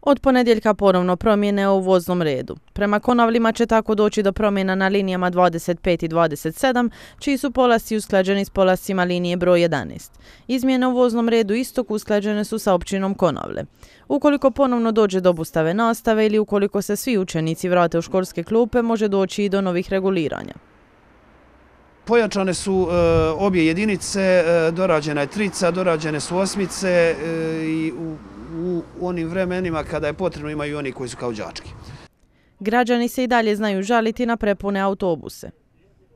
Od ponedjeljka ponovno promjene u voznom redu. Prema Konavlima će tako doći do promjena na linijama 25 i 27, čiji su polasci usklađeni s polascima linije broj 11. Izmjene u voznom redu Istok usklađene su sa općinom Konavle. Ukoliko ponovno dođe do obustave nastave ili ukoliko se svi učenici vrate u školske klupe, može doći i do novih reguliranja. Pojačane su obje jedinice, dorađena je trica, dorađene su osmice i u onim vremenima kada je potrebno imaju oni koji su kao đački. Građani se i dalje znaju žaliti na prepune autobuse.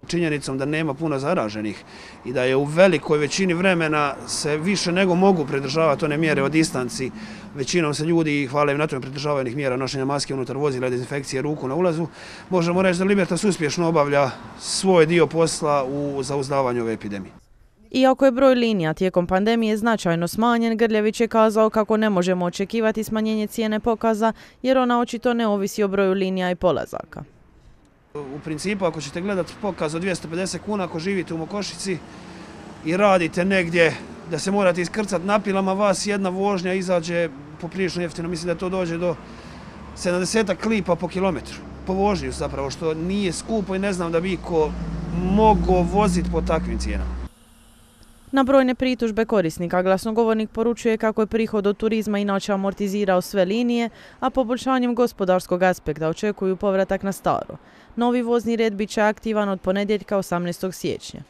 Činjenicom da nema puno zaraženih i da je u velikoj većini vremena se više nego mogu pridržavati one mjere o distanci. Većinom se ljudi, hvala im na tome, pridržavaju onih mjera nošenja maske unutar vozila, dezinfekcije ruku na ulazu. Možemo reći da Libertas uspješno obavlja svoj dio posla u zauzdavanju ove epidemije. Iako je broj linija tijekom pandemije značajno smanjen, Grljević je kazao kako ne možemo očekivati smanjenje cijene pokaza jer ona očito ne ovisi o broju linija i polazaka. U principu, ako ćete gledati pokaz od 250 kuna, ako živite u Mokošici i radite negdje da se morate iskrcati na pilama, vas jedna vožnja izađe poprilično jeftino. Mislim da to dođe do 70 lipa po kilometru. Po vožnju zapravo, što nije skupo i ne znam da bi ko mogao voziti po takvim cijenama. Na brojne pritužbe korisnika glasnogovornik poručuje kako je prihod od turizma inače amortizirao sve linije, a poboljšanjem gospodarskog aspekta očekuju povratak na staro. Novi vozni red bit će aktivan od ponedjeljka 18. siječnja.